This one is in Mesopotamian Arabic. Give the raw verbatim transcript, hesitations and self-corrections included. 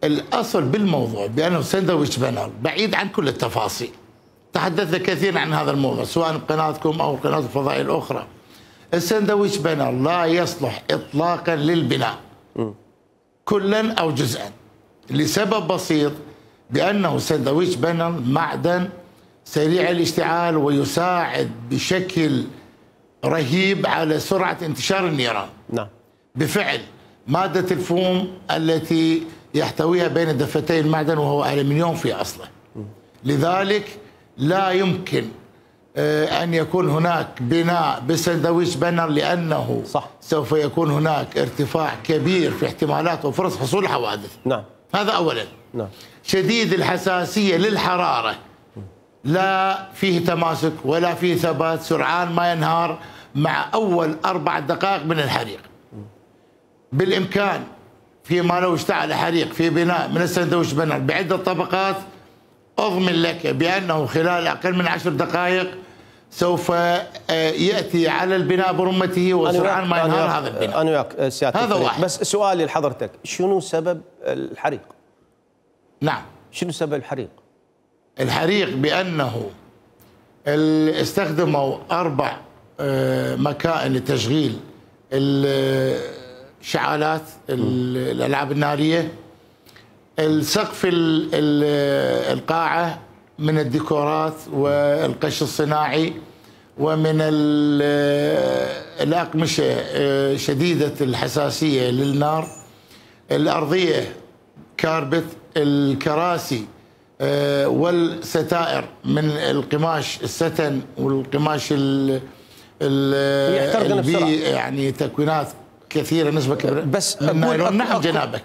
الأصل بالموضوع بأنه ساندويتش بانر بعيد عن كل التفاصيل. تحدثنا كثيرا عن هذا الموضوع سواء بقناتكم أو القنوات الفضائية الأخرى. الساندويتش بانر لا يصلح إطلاقا للبناء كلا أو جزءا لسبب بسيط، بأنه ساندويتش بانر معدن سريع الاشتعال ويساعد بشكل رهيب على سرعة انتشار النيران. نعم. بفعل مادة الفوم التي يحتويها بين دفتي المعدن وهو ألمنيوم في أصله. لذلك لا يمكن أن يكون هناك بناء بساندويتش بانر، لأنه صح. سوف يكون هناك ارتفاع كبير في احتمالات وفرص حصول الحوادث. نعم. هذا أولا. نعم. شديد الحساسية للحرارة، لا فيه تماسك ولا فيه ثبات، سرعان ما ينهار مع أول أربع دقائق من الحريق. بالإمكان فيما لو اشتعل حريق في بناء من الساندويتش بانر بعدة طبقات، أضمن لك بأنه خلال أقل من عشر دقائق سوف يأتي على البناء برمته وسرعان ما ينهار هذا البناء. أنا وياك سيادة هذا واحد. بس سؤالي لحضرتك، شنو سبب الحريق؟ نعم. شنو سبب الحريق؟ الحريق بأنه استخدموا أربع مكائن لتشغيل الشعالات الألعاب النارية. السقف القاعة من الديكورات والقش الصناعي ومن الأقمشة شديدة الحساسية للنار. الأرضية كاربت، الكراسي والستائر من القماش الستن والقماش البي يعني تكوينات كثيرة نسبة كبيرة بس من نايلون. نعم جنابك.